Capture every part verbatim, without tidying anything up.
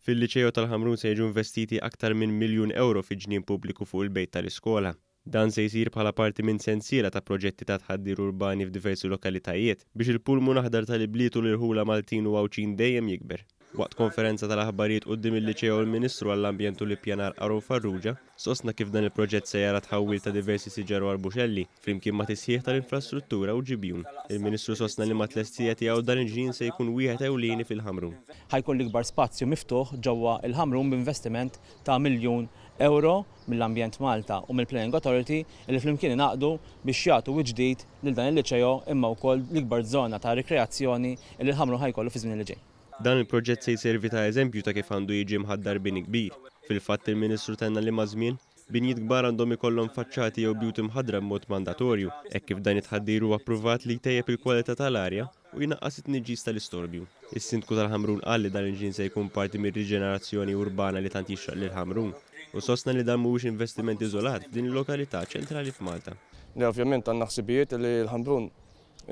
Fil-Liċeo tal-Ħamrun se jiġu investiti aktar minn miljun euro fi ġnien pubbliku fuq il-bejt tal-iskola. Dan se jsir bħala parti minn sensiela ta' proġetti ta' tħaddir urbani f'diversi lokalitajiet biex il-pulmun aħdar tal-ibliet u l-irħula Maltin u Għawdxin dejjem jikber. Waqt konferenza tal-aħbarijiet quddiem il-Liċeo, il-Ministru għall-Ambjent u l-Ippjanar Aaron Farrugia sostna kif dan il-proġett se jara tħawwil ta' diversi siġar u arbuxelli flimkien ma' tisħiħ tal-infrastruttura u ġibjun. Il-Ministru sostna li mat-tlestija tiegħu dan il-ġnien se jkun wieħed ewlieni fil-Ħamrun. Ħa jkun l-ikbar spazju miftuħ ġewwa il-Ħamrun b'investiment ta' miljun euro mill-Ambjent Malta u mill-Planning Authority li flimkien ingħaqdu biex jagħtu ġdid lil dan il-liċeo, imma wkoll l-ikbar żona ta' rikreazzjoni li l-Ħamrun ħa jkollu fi żmien li ġej. Dan il-proġett se jservi ta' eżempju ta' kif għandu jiġi mħaddar bini kbir. Fil-fatt, il-Ministru tenna li maż-żmien binjiet kbar għandhom ikollhom faċċati jew bjut imħaddra b'mod mandatorju, hekk kif dan it-tħaddir huwa appruvat li jtejjeb il-kwalità tal-arja u jnaqqas it-tniġġis tal-istorbju. Is-Sindku tal-Ħamrun qal li dan il-ġnien se jkun parti mir-riġenerazzjoni urbana li tant jixraq lil Ħamrun u sostna li dan mhuwiex investiment iżolat f'din il-lokalità ċentrali f'Malta. Li ovvjament għandna ħsibijiet li l-Ħamrun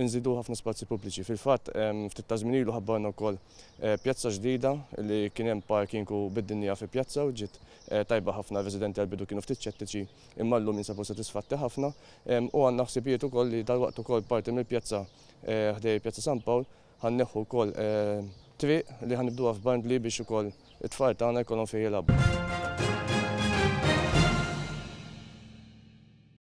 nżidu ħafna spazji pubbliċi. Fil-fatt, ftit ta' żmien ilu ħabbarna wkoll eh, pjazza ġdida li kien hemm parking u biddilnieha fi pjazza u ġiet eh, tajba ħafna. Residenti għal-bidu kienu ftit ċettiċi, imma llum jinsabu sodisfatti ħafna u għandna ħsibijiet ukoll li dalwaqt ukoll parti mill-pjazza eh, ħdejn Pjazza San Pawl ħa nneħħu wkoll triq li ħa nibdluha f'bandli biex ukoll it-tfal tagħna jkollhom fejn jilagħbu.